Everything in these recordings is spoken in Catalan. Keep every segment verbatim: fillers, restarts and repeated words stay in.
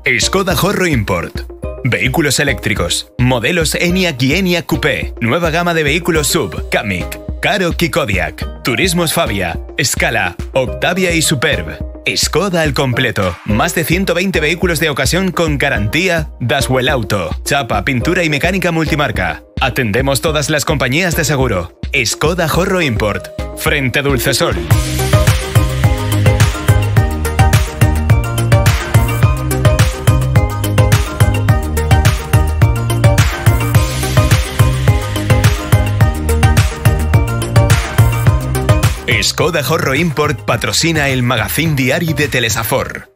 Skoda Horro Import. Vehículos eléctricos. Modelos Enyaq y Enyaq Coupé. Nueva gama de vehículos sub. Kamiq, Karoq y Kodiaq. Turismos Fabia, Scala, Octavia y Superb. Skoda al completo. Más de ciento veinte vehículos de ocasión con garantía Daswell Auto. Chapa, pintura y mecánica multimarca. Atendemos todas las compañías de seguro. Skoda Horro Import. Frente Dulcesol. Skoda Horro Import patrocina el magazín diari de Telesafor.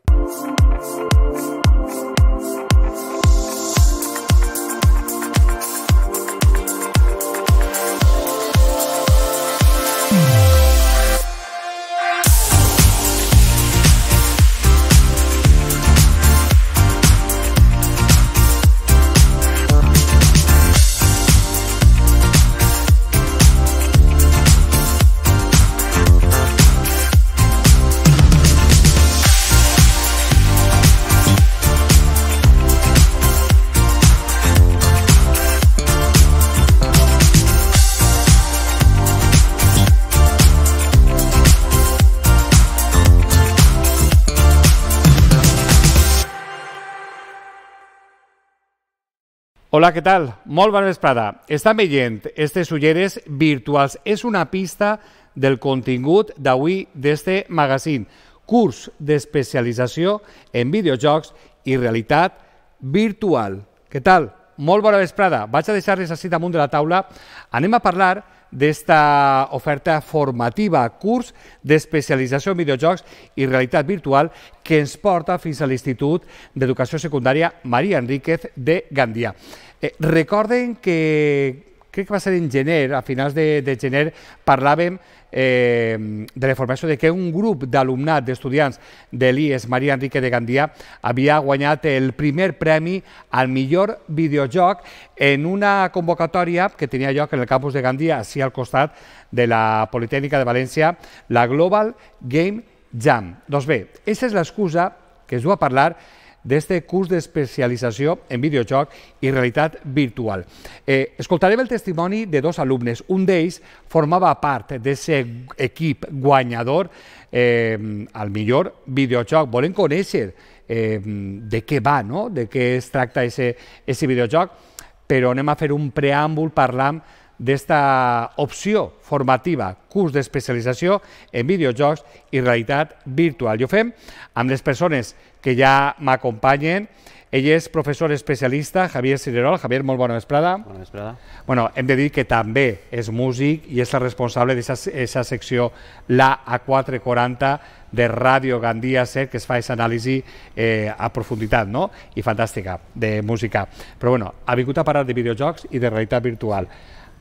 Hola, què tal? Molt bona vesprada. Estan veient aquestes ulleres virtuals. És una pista del contingut d'avui d'este magazín. Curs d'especialització en videojocs i realitat virtual. Què tal? Molt bona vesprada. Vaig a deixar-les així damunt de la taula. Anem a parlar d'esta oferta formativa, curs d'especialització en videojocs i realitat virtual que ens porta fins a l'Institut d'Educació Secundària Maria Enríquez de Gandia. Eh, recorden que, crec que va ser en gener, a finals de, de gener, parlàvem eh, de la informació de que un grup d'alumnat, d'estudiants de l'I E S Maria Enríquez de Gandia havia guanyat el primer premi al millor videojoc en una convocatòria que tenia lloc en el campus de Gandia, així al costat de la Politècnica de València, la Global Game Jam. Doncs bé, aquesta és l'excusa que es du a parlar d'este curs d'especialització en videojoc i realitat virtual. Eh, escoltarem el testimoni de dos alumnes. Un d'ells formava part d'aquest equip guanyador eh, al millor videojoc. Volem conèixer eh, de què va, no? De què es tracta aquest videojoc, però anem a fer un preàmbul parlant d'esta opció formativa, curs d'especialització en videojocs i realitat virtual. I ho fem amb les persones que ja m'acompanyen. Ell és professor especialista, Javier Cirerol. Javier, molt bona vesprada. Bona vesprada. Bueno, hem de dir que també és músic i és el responsable d'aquesta secció, la A quatre quaranta de Ràdio Gandia set, que es fa aquesta anàlisi eh, a profunditat, no? I fantàstica, de música. Però bueno, ha vingut a parlar de videojocs i de realitat virtual.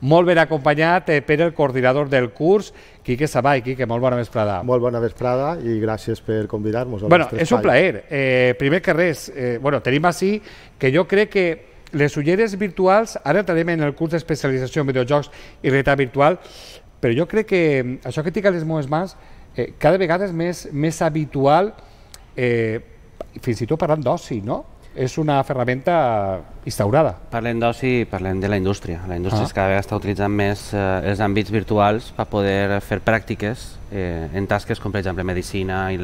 Molt ben acompanyat per el coordinador del curs, Quique Savall. Quique, molt bona vesprada. Molt bona vesprada i gràcies per convidar-nos. Bueno, és un plaer. Eh, primer que res, eh, bueno, tenim així que jo crec que les ulleres virtuals, ara entrarem en el curs d'especialització en videojocs i realitat virtual, però jo crec que això que tinc a les meves mans eh, cada vegada és més, més habitual, eh, fins i tot parlant d'oci, no? És una ferramenta instaurada. Parlem d'oci i parlem de la indústria. La indústria ah. cada vegada està utilitzant més eh, els àmbits virtuals per poder fer pràctiques eh, en tasques com, per exemple, medicina, i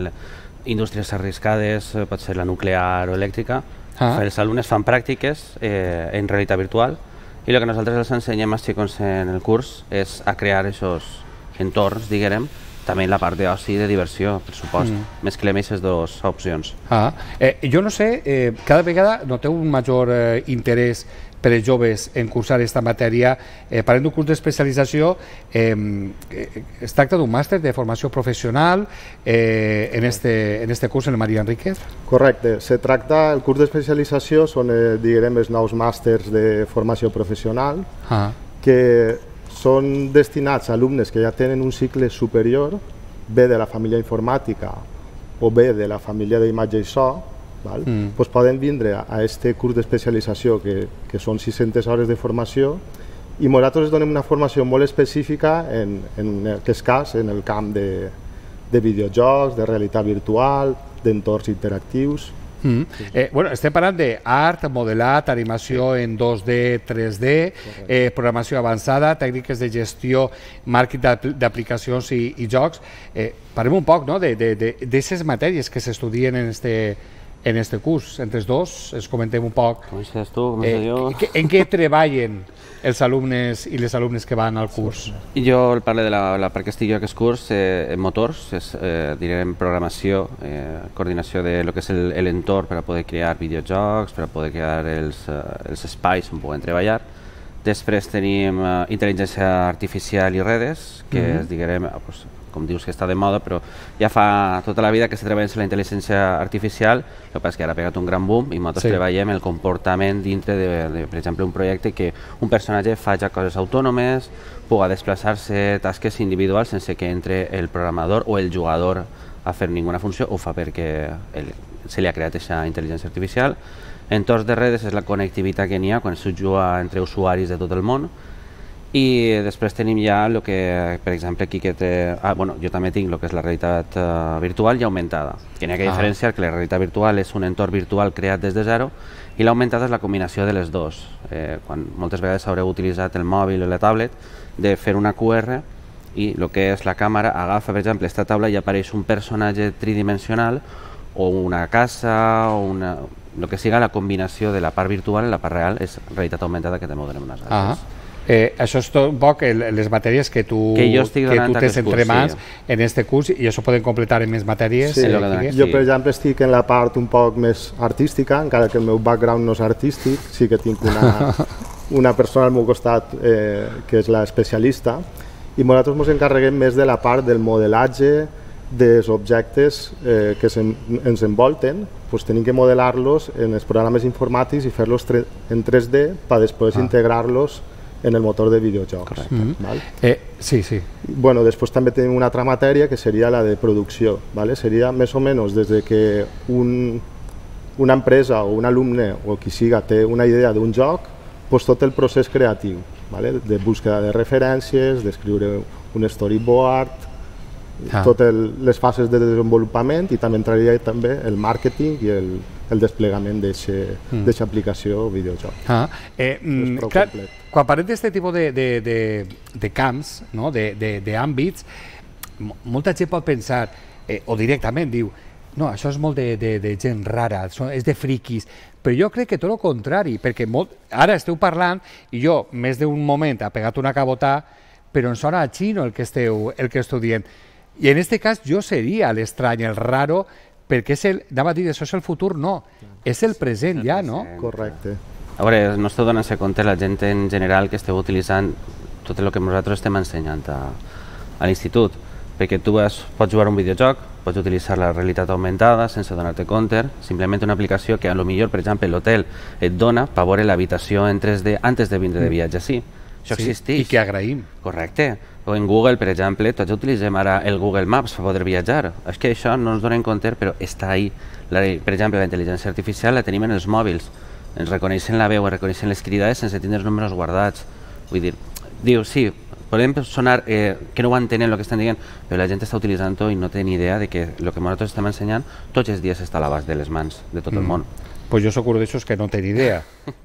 indústries arriscades, eh, pot ser la nuclear o elèctrica. Ah. Els alumnes fan pràctiques eh, en realitat virtual i el que nosaltres els ensenyem als xicons en el curs és a crear aquests entorns, diguem, també en la part d'oci i de diversió, per supost. Mm. Mesclem aquestes dues opcions. Ah. Eh, jo no sé, eh, cada vegada noteu un major eh, interès per als joves en cursar aquesta matèria. Eh, parlem d'un curs d'especialització, eh, es tracta d'un màster de formació professional eh, en, este, en este curs, en el Maria Enríquez? Correcte. Se tracta, el curs d'especialització són, eh, diguem, els nous màsters de formació professional ah. que són destinats a alumnes que ja tenen un cicle superior, bé de la família informàtica o bé de la família d'imatge i so, val? Mm. Pues poden vindre a aquest curs d'especialització que, que són sis-centes hores de formació i nosaltres donem una formació molt específica en, en aquest cas en el camp de, de videojocs, de realitat virtual, d'entorns interactius Mm. Eh, bueno, estem parlant d'art, modelat, animació en dos D, tres D, eh, programació avançada, tècniques de gestió, màrqueting d'aplicacions i, i jocs. Eh, parlem un poc, no?, d'aquestes matèries que s'estudien en este en este curs. Entre els dos, es comentem un poc com estàs tu, com estàs jo? Eh, en què treballen els alumnes i les alumnes que van al curs. I jo parlo de la, la part que estic jo a aquest curs, eh, en motors, és, eh, direm programació, eh, coordinació de lo que és l'entorn per a poder crear videojocs, per a poder crear els, eh, els espais on puguem treballar. Després tenim eh, intel·ligència artificial i redes, que mm-hmm. és, diguem, pues, com dius que està de moda, però ja fa tota la vida que se treballa en la intel·ligència artificial, el que passa és que ara ha pegat un gran boom i nosaltres sí. treballem el comportament dintre de, de, per exemple, un projecte que un personatge faci coses autònomes, pugui desplaçar-se tasques individuals sense que entre el programador o el jugador a fer ninguna funció, ho fa perquè el, se li ha creat aquesta intel·ligència artificial. Entorns de redes és la connectivitat que n'hi ha quan se juga entre usuaris de tot el món. I després tenim ja el que, per exemple, aquí que té... Ah, bueno, jo també tinc el que és la realitat uh, virtual i augmentada. Que n'hi ha que ah. diferenciar que la realitat virtual és un entorn virtual creat des de zero i l'augmentada és la combinació de les dues. Eh, quan moltes vegades haureu utilitzat el mòbil o la tablet, de fer una Q R i el que és la càmera agafa, per exemple, aquesta taula i apareix un personatge tridimensional o una casa o una... el que siga la combinació de la part virtual i la part real és realitat augmentada que també ho donem unes altres. Ah. Eh, això és tot un poc el, les matèries que tu, que jo estic que tu tens entre curs, mans sí. en este curs i això poden completar en més matèries. Sí. Eh, sí. Jo, per exemple, estic en la part un poc més artística, encara que el meu background no és artístic, sí que tinc una, una persona al meu costat eh, que és l'especialista, i nosaltres ens encarreguem més de la part del modelatge dels objectes eh, que se, ens envolten. Pues tenim que modelar-los en els programes informàtics i fer-los en tres D per després ah. integrar-los en el motor de videojocs. Mm-hmm. Val? Eh, sí, sí. Bueno, després també tenim una altra matèria que seria la de producció. ¿Vale? Seria més o menys des de que un, una empresa o un alumne o qui siga té una idea d'un joc, pues tot el procés creatiu, ¿vale? De búsqueda de referències, d'escriure un storyboard, ah. totes les fases de desenvolupament, i també entraria també el màrqueting i el, el desplegament d'aquesta mm. aplicació o videojoc. Ah. Eh, mm, clar, quan parlem d'aquest tipus de, de, de, de camps, no? d'àmbits, molta gent pot pensar, eh, o directament diu, no, això és molt de, de, de gent rara, és de friquis, però jo crec que tot el contrari, perquè molt, ara esteu parlant i jo més d'un moment ha pegat una cabotà, però em sona a xino el que esteu, el que esteu dient. I en aquest cas jo seria l'estrany, el raro, perquè és el, anava a dir, això és el futur, no, és el present ja, no? Correcte. A veure, no esteu donant-se compte la gent en general que esteu utilitzant tot el que nosaltres estem ensenyant a, a l'institut, perquè tu vas, pots jugar un videojoc, pots utilitzar la realitat augmentada sense donar-te compte, simplement una aplicació que a lo millor, per exemple, l'hotel et dona per veure l'habitació en tres D antes de vindre de viatge, sí. Això sí, existeix. I que agraïm. Correcte. O en Google, per exemple, tots utilitzem ara el Google Maps per poder viatjar. És que això no ens donem compte, però està ahí. La, per exemple, la intel·ligència artificial la tenim en els mòbils. Ens reconeixen la veu, reconeixen les cridades sense tindre els números guardats. Vull dir, diu, sí, podem sonar eh, que no ho entenen el que estan dient, però la gent està utilitzant-ho i no té ni idea de que el que nosaltres estem ensenyant tots els dies està a l'abast de les mans de tot mm. el món. Pues jo soc un d'aixòs que no té ni idea,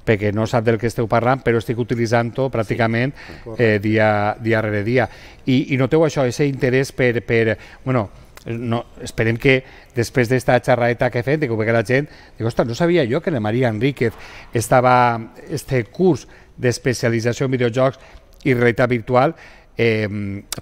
perquè no sap del que esteu parlant, però estic utilitzant-ho pràcticament eh, dia, dia rere dia. I, i noteu això, aquest interès per... per bueno, no, esperem que després d'esta xerradeta que he fet, que ho vegi la gent, dic, ostres, no sabia jo que la Maria Enríquez estava este curs d'especialització en videojocs i realitat virtual, eh,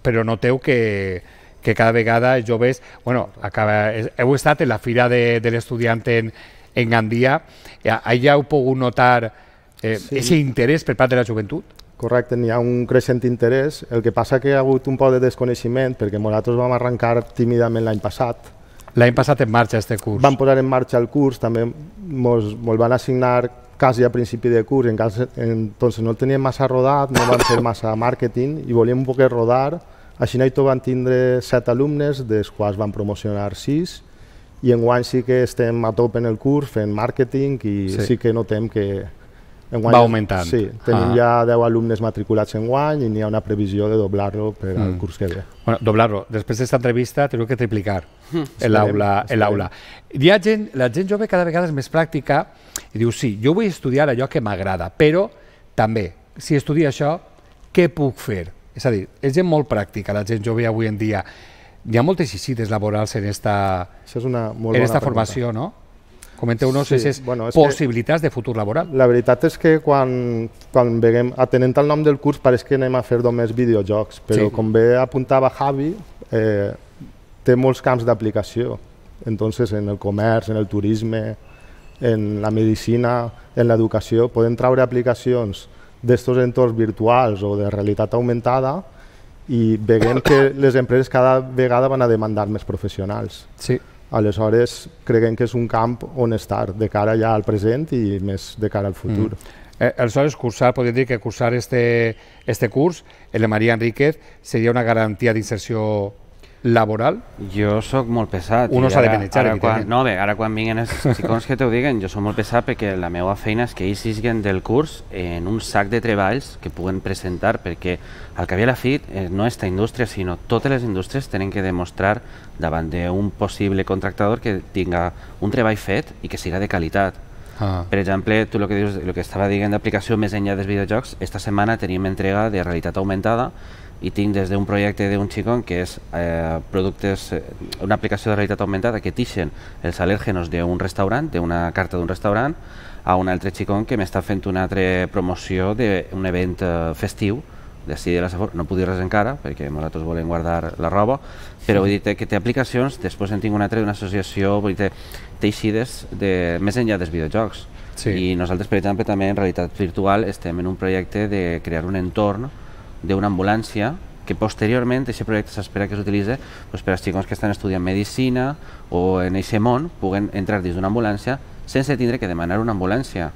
però noteu que, que cada vegada els joves, bueno, acaba, heu estat en la fira de, de l'estudiant en, en Gandia, allà heu pogut notar aquest eh, sí. interès per part de la joventut? Correcte, n'hi ha un creixent interès. El que passa que hi ha hagut un poc de desconeixement, perquè nosaltres vam arrencar tímidament l'any passat. L'any passat en marxa aquest curs. Vam posar en marxa el curs, també ens van assignar quasi a principi de curs, en cas, entonces no el teníem massa rodat, no vam fer massa màrqueting i volíem un poc rodar. Així tot van tindre set alumnes, dels quals van promocionar sis, i enguany sí que estem a top en el curs fent màrqueting i sí, sí que notem que enguany, va augmentant. Sí, tenim ah. ja deu alumnes matriculats enguany i n'hi ha una previsió de doblar-lo per al mm. curs que ve. Bueno, doblar-lo. Després d'esta entrevista teniu que triplicar mm. l'aula. Hi ha gent, la gent jove cada vegada és més pràctica i diu, sí, jo vull estudiar allò que m'agrada, però també, si estudio això, què puc fer? És a dir, és gent molt pràctica, la gent jove avui en dia. Hi ha moltes xixites laborals en esta, és una molt en esta formació, no? Comenteu-nos sí, aquestes bueno, possibilitats de futur laboral. La veritat és que quan, quan veiem, atenent al nom del curs, pareix que anem a fer només videojocs, però sí. com bé apuntava Javi, eh, té molts camps d'aplicació. Entonces, en el comerç, en el turisme, en la medicina, en l'educació, podem treure aplicacions d'estos entorns virtuals o de realitat augmentada i veiem que les empreses cada vegada van a demandar més professionals. Sí. Aleshores, creiem que és un camp on estar, de cara ja al present i més de cara al futur. Mm. Eh, aleshores, cursar, podríem dir que cursar este, este curs, el de Maria Enríquez, seria una garantia d'inserció laboral? Jo sóc molt pesat. Uno s'ha de manejar, evidentment. No, bé, ara quan vinguen els xicons que t'ho diguen, jo sóc molt pesat perquè la meva feina és que ells siguin del curs en un sac de treballs que puguen presentar, perquè al cap i a la fi no esta indústria, sinó totes les indústries tenen que demostrar davant d'un possible contractador que tinga un treball fet i que siga de qualitat. Ah. Per exemple, tu el que dius, el que estava dient d'aplicació més enllà dels videojocs, esta setmana tenim entrega de realitat augmentada i tinc des d'un projecte d'un xicón que és eh, productes, eh, una aplicació de realitat augmentada que tixen els al·lèrgenos d'un restaurant, d'una carta d'un restaurant, a un altre xicón que m'està fent una altra promoció d'un event eh, festiu d'ací de la Safor. No puc dir res encara perquè nosaltres volem guardar la roba, però vull dir que té aplicacions. Després en tinc una altra d'una associació, vull dir, té eixides de, més enllà dels videojocs. Sí. I nosaltres, per exemple, també en realitat virtual estem en un projecte de crear un entorn d'una ambulància que posteriorment aquest projecte s'espera que s'utilitzi pues, per als xicons que estan estudiant medicina o en aquest món puguen entrar dins d'una ambulància sense tindre que demanar una ambulància.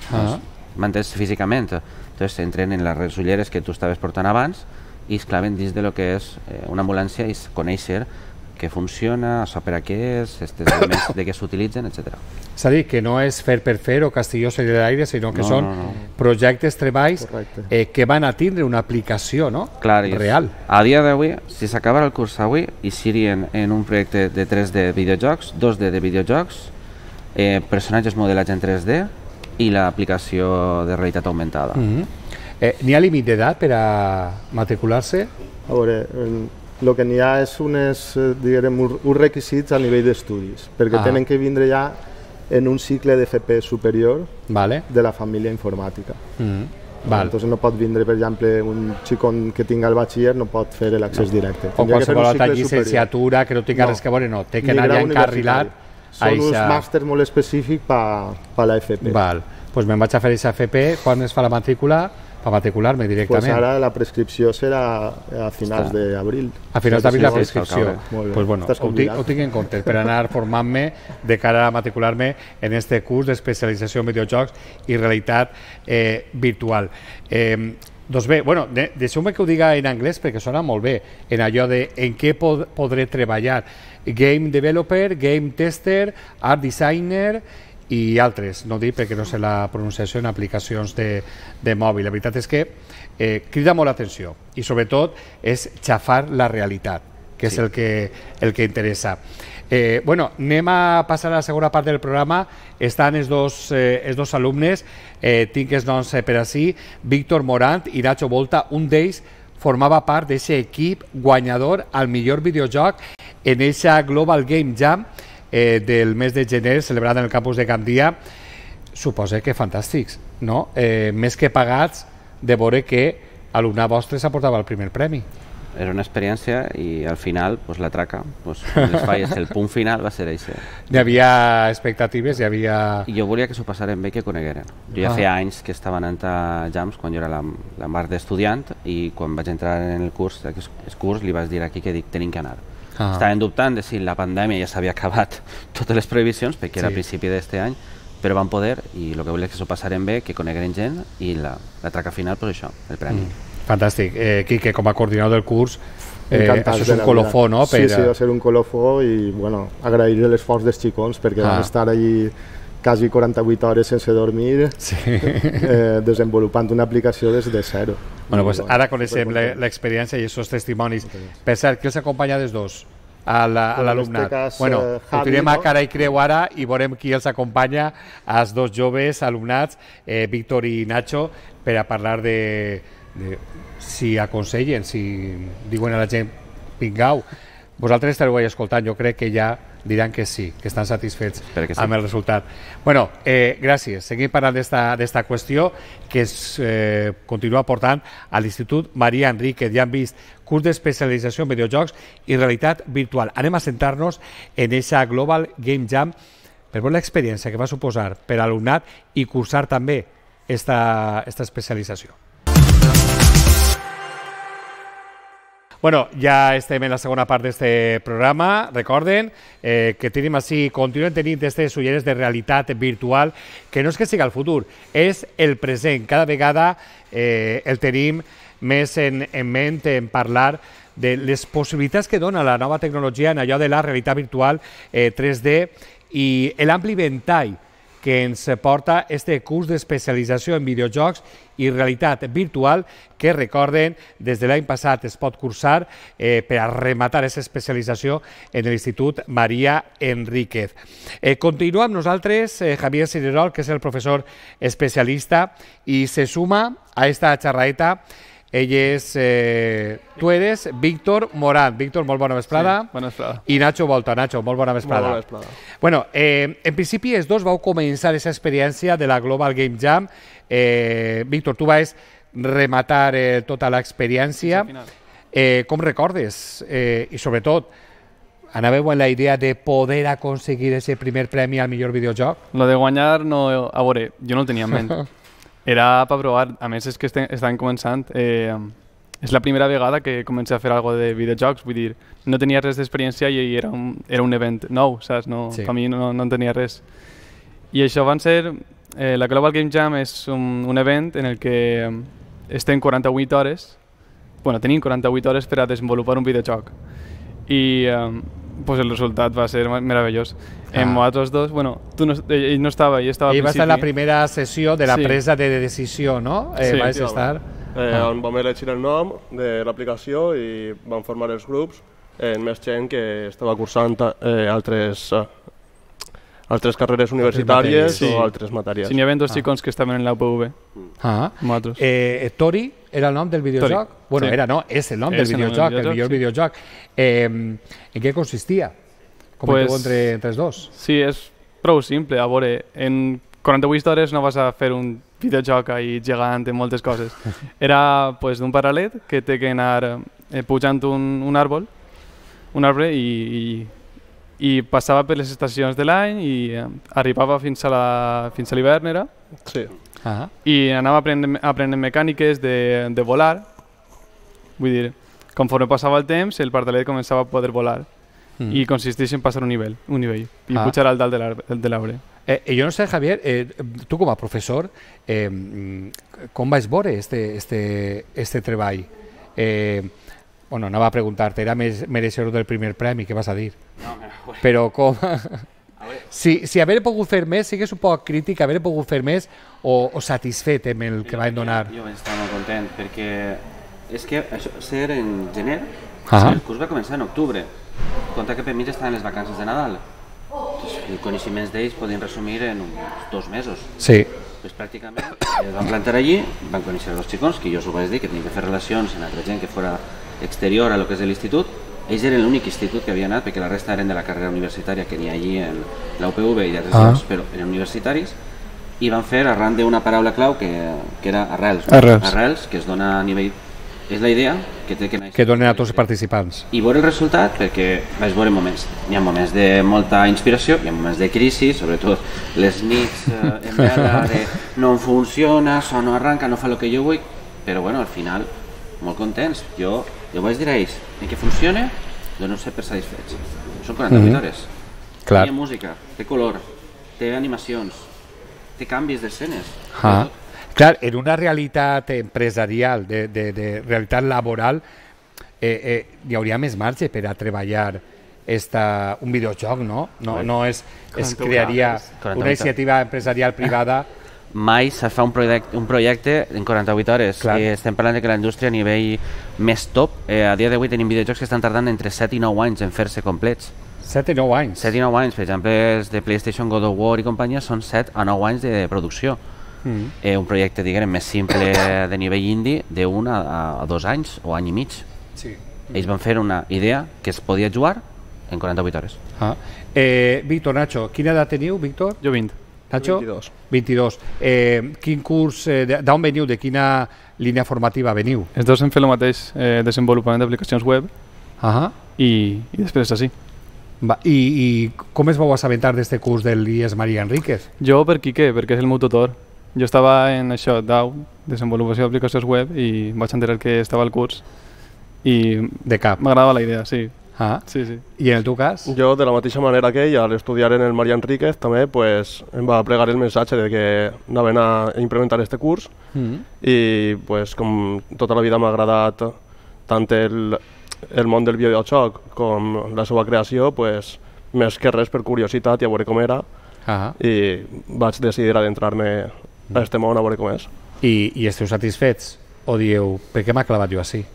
Ah. Doncs, m'entens físicament. Entonces entren en les ulleres que tu estaves portant abans i es claven dins de lo que és eh, una ambulància i conèixer què funciona, això per a què és, aquests elements de què s'utilitzen, etcètera. És a dir, que no és fer per fer o Castelló seria de l'aire, sinó que no, són no, no. projectes, treballs eh, que van a tindre una aplicació no? Clar, real. A dia d'avui, si s'acabara el curs avui, hi serien en un projecte de tres D videojocs, dos D de videojocs, eh, personatges modelats en tres D i l'aplicació de realitat augmentada. Mm-hmm. eh, N'hi ha límit d'edat per a matricular-se? A veure, el que n'hi ha és unes, diguem, uns requisits a nivell d'estudis, perquè ah. tenen que vindre ja en un cicle d'F P superior vale. de la família informàtica. Mm. Val. Entonces no pot vindre, per exemple, un xicon que tinga el batxiller no pot fer l'accés no. directe. O qualsevol altra llicenciatura que no tinga no. res que veure, no, té que anar ja encarrilat. Són uns màsters molt específics per a l'F P. Val, doncs me'n vaig a fer aquesta F P, quan es fa la matrícula? Per matricular-me directament. Pues ara la prescripció serà a finals d'abril. A finals d'abril la prescripció. Pues bueno, ho, tinc, ho tinc en compte per anar formant-me de cara a matricular-me en este curs d'especialització en videojocs i realitat eh, virtual. Eh, doncs bé, bueno, de, deixeu-me que ho diga en anglès perquè sona molt bé, en allò de en què pod podré treballar. Game developer, game tester, art designer i altres, no dic perquè no sé la pronunciació en aplicacions de, de mòbil. La veritat és que eh, crida molt l'atenció i sobretot és xafar la realitat, que sí. és el que, el que interessa. Eh, bueno, anem a passar a la segona part del programa. Estan els dos, eh, els dos alumnes, eh, tinc els noms per ací, Víctor Morant i Nacho Volta. Un d'ells formava part d'aquest equip guanyador al millor videojoc en aquesta Global Game Jam Eh, del mes de gener celebrat en el campus de Gandia. Suposa que fantàstics, no? Eh, més que pagats de veure que alumnat vostre s'aportava el primer premi. Era una experiència i al final pues, la traca, pues, les falles, el punt final va ser això. Hi havia expectatives, hi havia... I jo volia que s'ho passaren bé i que conegueren. Jo ja ah. feia anys que estava anant a Jams quan jo era la, la mar d'estudiant i quan vaig entrar en el curs, el curs li vaig dir aquí que dic, tenim que anar. Ah. Estaven dubtant de si la pandèmia ja s'havia acabat totes les previsions, perquè era sí. a principi d'aquest any, però van poder i el que volia és que s'ho passaren bé, que conegueren gent i la, la traca final, pues això, el premi. Mm. Fantàstic. Eh, Quique, com a coordinador del curs, eh, això és un colofó, no? Sí, per... sí, va ser un colofó i bueno, agrair l'esforç dels xicons perquè ah. van estar allí quasi quaranta-vuit hores sense dormir, sí. eh, desenvolupant una aplicació des de zero. Bueno, pues ara coneixem l'experiència i aquests testimonis. Per cert, qui els acompanya dels dos? A l'alumnat. La, bueno, ho tirem a cara i creu ara i veurem qui els acompanya als dos joves alumnats, eh, Víctor i Nacho, per a parlar de, de si aconsellen, si diuen a la gent vingau. Vosaltres estareu escoltant, jo crec que ja diran que sí, que estan satisfets que sí. amb el resultat. Bueno, eh, gràcies. Seguim parlant d'esta qüestió que es eh, continua portant a l'Institut Maria Enríquez. Ja han vist curs d'especialització en videojocs i realitat virtual. Anem a centrar-nos en aquesta Global Game Jam per veure l'experiència que va suposar per a l'alumnat i cursar també esta, esta especialització. Bueno, ja estem en la segona part d'aquest programa. Recorden eh, que tenim així, continuen tenint aquestes ulleres de realitat virtual, que no és que sigui el futur, és el present. Cada vegada eh, el tenim més en, en ment en parlar de les possibilitats que dona la nova tecnologia en allò de la realitat virtual eh, tres D i l'ampli ventall que ens porta este curs d'especialització en videojocs i realitat virtual que, recorden, des de l'any passat es pot cursar eh, per a rematar aquesta especialització en l'Institut Maria Enríquez. Eh, continua amb nosaltres eh, Javier Cirerol, que és el professor especialista, i se suma a esta xerraeta. Ell és, eh, tu eres Víctor Morán. Víctor, molt bona vesprada. Sí, bona vesprada. I Nacho Volta. Nacho, molt bona vesprada. Molt bona vesprada. Bueno, eh, en principi els dos vau començar aquesta experiència de la Global Game Jam. Eh, Víctor, tu vas rematar eh, tota l'experiència. Eh, com recordes? Eh, I sobretot, anàveu en la idea de poder aconseguir aquest primer premi al millor videojoc? Lo de guanyar, no, a veure, jo no el tenia en ment. Era per provar, a més és que estaven començant, eh, és la primera vegada que comencé a fer alguna cosa de videojocs, vull dir, no tenia res d'experiència i era un, era un event nou, saps? No, sí. Per mi no, no en tenia res. I això van ser, eh, la Global Game Jam és un, un event en el que estem quaranta-vuit hores, bueno, tenim quaranta-vuit hores per a desenvolupar un videojoc. I eh, pues el resultat va ser meravellós. Ah. En nosaltres dos, bueno, tu no, ell no estava, ell estava al ell principi. va estar en la primera sessió de la sí. presa de decisió, no? Eh, sí, vas sí, estar... Eh, ah. On vam elegir el nom de l'aplicació i vam formar els grups en més gent que estava cursant eh, altres, eh, altres carreres universitàries sí. o altres matèries. Sí, n'hi havia dos ah. xicons que estaven en la U P V. Ah. Eh, Tori era el nom del videojoc? Tori. Bueno, sí. era no, és el nom és del videojoc, el, el millor sí. videojoc. Eh, en què consistia? Com pues, entre, entre els dos? Sí, és prou simple. A veure, en quaranta-vuit hores no vas a fer un videojoc ahí gegant en moltes coses. Era pues, d'un paral·let que té que anar eh, pujant un, un àrbol, un arbre i, i, i passava per les estacions de l'any i eh, arribava fins a l'hivern, era? Sí. Ah. I anava aprenent, aprenent mecàniques de, de volar. Vull dir, conforme passava el temps, el pardalet començava a poder volar. Mm. I consisteix en passar un nivell, un nivell i ah. pujar al dalt de l'arbre. Eh, jo no sé, Javier, eh, tu com a professor, eh, com vas veure este, este, este treball? Eh, bueno, anava a preguntar-te, era més mereixedor del primer premi, què vas a dir? No, no, però com... si, si haver pogut fer més, sigues un poc crític, haver pogut fer més o, o satisfet amb el que van donar? Jo vaig estar molt content, perquè és que això ser en gener, ah. el curs va començar en octubre. Compte que per mi ja estaven les vacances de Nadal. Els coneixements d'ells podien resumir en uns dos mesos. Sí. Pues pràcticament es van plantar allí, van conèixer els xicons, que jo us ho vaig dir, que tenien que fer relacions amb altra gent que fora exterior a lo que és l'institut. Ells eren l'únic institut que havia anat, perquè la resta eren de la carrera universitària que n'hi ha allí en la U P V i d'altres ah. llocs, però eren universitaris, i van fer arran d'una paraula clau que, que era arrels. No? Arrels. Arrels, que es dona a nivell... És la idea que té que... Que donen a tots els participants. I veure el resultat, perquè vaig veure moments. Hi ha moments de molta inspiració, hi ha moments de crisi, sobretot les nits eh, en vela de no funciona, això no arranca, no fa el que jo vull, però bueno, al final, molt contents. Jo, jo vaig dir a ells, en què funciona, dono ser per satisfets. Són quaranta-vuit mm-hmm. hores. Clar. Té música, té color, té animacions, té canvis d'escenes. Ah. Clar, en una realitat empresarial, de, de, de realitat laboral, eh, eh, hi hauria més marge per a treballar esta, un videojoc, no? No, no es, es crearia una iniciativa empresarial privada. Mai se fa un projecte, un projecte en quaranta-vuit hores. I estem parlant de que la indústria a nivell més top, eh, a dia d'avui tenim videojocs que estan tardant entre set i nou anys en fer-se complets. set i nou anys? set i nou anys. Per exemple, els de PlayStation, God of War i companyia són set a nou anys de producció. Mm. Eh, un projecte, diguem, més simple de nivell indie d'un a, a dos anys o any i mig. Sí. Ells van fer una idea que es podia jugar en quaranta-vuit hores. Ah. Eh, Víctor, Nacho, quina edat teniu, Víctor? Jo vint. Nacho? vint-i-dos. vint-i-dos. Eh, quin curs, eh, d'on veniu, de quina línia formativa veniu? Els dos hem fet el mateix, eh, desenvolupament d'aplicacions web uh-huh. i, i després així. Va, i, I com es vau assabentar d'este curs del I E S María Enríquez? Jo per Quique, perquè és el meu tutor. Jo estava en això, D A U, desenvolupació d'aplicacions web, i vaig enterar que estava al curs i de cap m'agradava la idea, sí. Ah. Sí, sí. I en el teu cas? Jo, de la mateixa manera que ell, al estudiar en el María Enríquez, també pues, em va plegar el missatge de que anaven a implementar este curs mm. i pues, com tota la vida m'ha agradat tant el, el món del videojoc com la seva creació, pues, més que res per curiositat i a veure com era, ah. i vaig decidir adentrar-me a este món a veure com és. I, i esteu satisfets? O dieu, per què m'ha clavat jo així?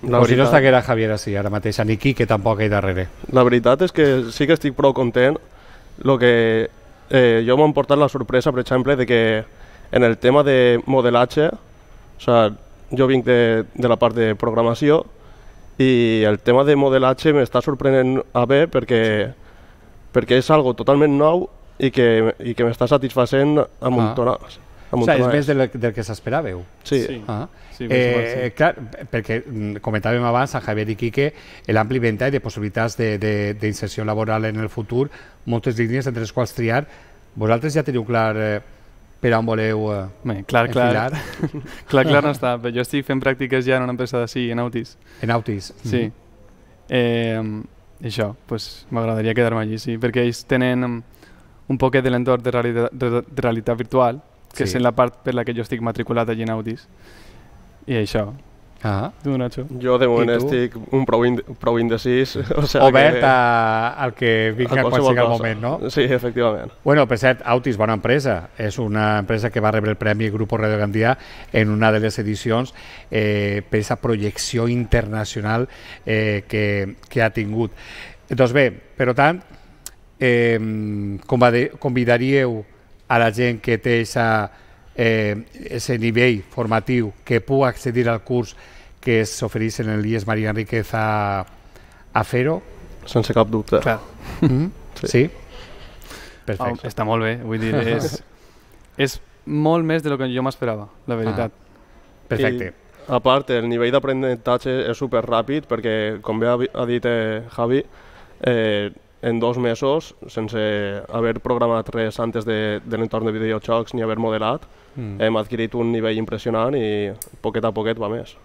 La o veritat, si no estaguera Javier així ara mateix, ni Quique tampoc hi darrere. La veritat és que sí que estic prou content. Lo que eh, jo m'ha portat la sorpresa, per exemple, de que en el tema de modelatge, o sea, jo vinc de, de la part de programació i el tema de modelatge m'està sorprenent a bé perquè, perquè és algo totalment nou i que, i que m'està satisfacent a muntonades. O sigui, és més del, del que s'esperàveu. Sí. sí. Ah. sí eh, clar, perquè comentàvem abans a Javier i Quique l'ampli ventall de possibilitats d'inserció laboral en el futur, moltes línies entre les quals triar. Vosaltres ja teniu clar eh, per on voleu eh, Bé, clar, enfilar? Clar, clar, clar no està, però jo estic fent pràctiques ja en una empresa d'ací, en Autis. En Autis? Sí. Mm-hmm. eh, això, pues, m'agradaria quedar-me allí, sí, perquè ells tenen un poquet de l'entorn de, realitat, de, de realitat virtual, que sí. És la part per la que jo estic matriculat allí en Autis. I això. Ah. Tu, Nacho? Jo de moment estic un prou, ind prou indecis. O sea Obert que... a, al que vingui quan sigui el moment, no? Sí, efectivament. Bueno, per cert, Autis, bona empresa. És una empresa que va rebre el Premi Grupo Radio Gandia en una de les edicions eh, per aquesta projecció internacional eh, que, que ha tingut. Doncs bé, per tant, eh, convidaríeu a la gent que té aquest eh, nivell formatiu que pugui accedir al curs que s'ofereix en l'I E S María Enríquez a, a fer-ho? Sense cap dubte. Clar. Mm? Sí? sí? Perfecte. Oh, està molt bé, vull dir, és, és molt més de lo que jo m'esperava, la veritat. Ah. Perfecte. I, a part, el nivell d'aprenentatge és super ràpid perquè, com bé ha dit eh, Javi, eh, en dos mesos, sense haver programat res antes de, de l'entorn de videojocs ni haver modelat, mm. hem adquirit un nivell impressionant i poquet a poquet va més.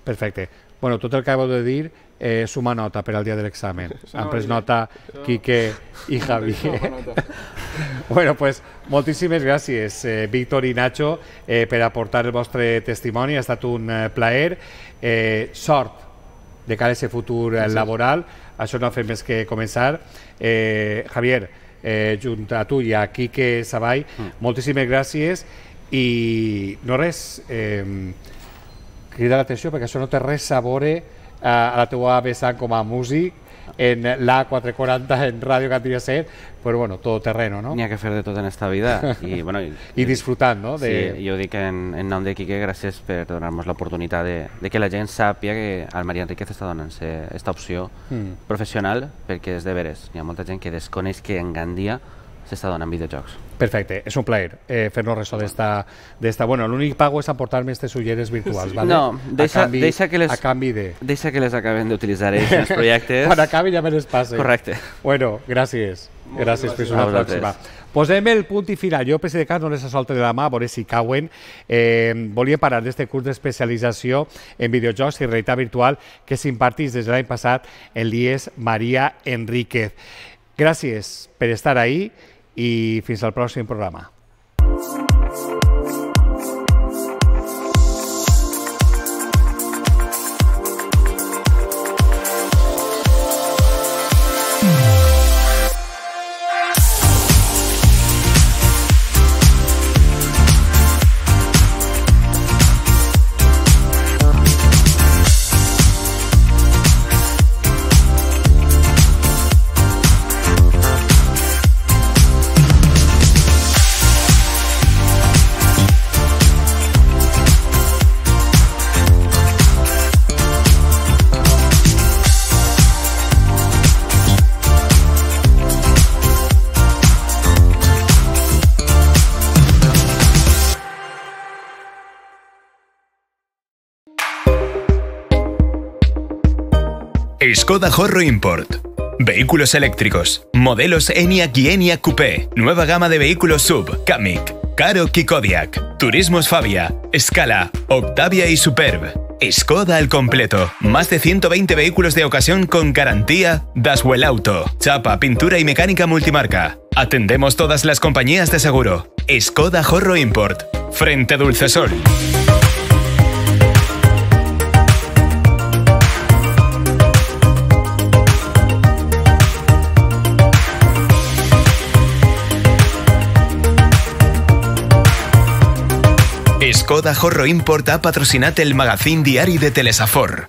Perfecte. Bueno, tot el que acabo de dir eh, suma nota per al dia de l'examen. Han pres nota Quique i Javier. Bueno, pues moltíssimes gràcies, eh, Víctor i Nacho, eh, per aportar el vostre testimoni. Ha estat un eh, plaer. Eh, sort de cara a aquest futur eh, laboral. Això no ha fet més que començar. Eh, Javier, eh, junt a tu i a Quique Savall, mm. moltíssimes gràcies i no res, eh, crida l'atenció perquè això no té res a veure a, a la teua vessant com a músic en l'A quatre quaranta en Ràdio Gandia set, però bueno, tot terreno, no? N'hi ha que fer de tot en esta vida i, bueno, i, I disfrutant, no? De... Sí, jo dic en, en nom de Quique, gràcies per donar-nos l'oportunitat de, de que la gent sàpia que al María Enríquez està donant-se aquesta opció mm. professional, perquè és de veres, hi ha molta gent que desconeix que en Gandia s'està donant videojocs. Perfecte, és un plaer eh, fer-nos ressò d'esta... Bueno, l'únic pago és aportar-me aquestes ulleres virtuals, ¿vale? No, deixa, a canvi, deixa, que les, a canvi de... deixa que les acabem d'utilitzar ells en els projectes. Quan acabi ja me les passe. Correcte. Bueno, gràcies. Molt gràcies, gràcies per una pròxima. Posem el punt i final. Jo, per si de cas, no les solta de la mà, a veure si cauen. Eh, volia parlar d'aquest curs d'especialització en videojocs i realitat virtual que s'impartís des de l'any passat en l'I E S María Enríquez. Gràcies per estar ahí i fins al pròxim programa. Skoda Horro Import. Vehículos eléctricos. Modelos ENIAC y ENIAC Coupé. Nueva gama de vehículos sub. Kamiq, Karoq y Kodiaq. Turismos Fabia, Scala, Octavia y Superb. Skoda al completo. Más de ciento veinte vehículos de ocasión con garantía Daswell Auto. Chapa, pintura y mecánica multimarca. Atendemos todas las compañías de seguro. Skoda Horro Import. Frente Dulcesol. Skoda Horro Import ha patrocinat el magazín diari de Telesafor.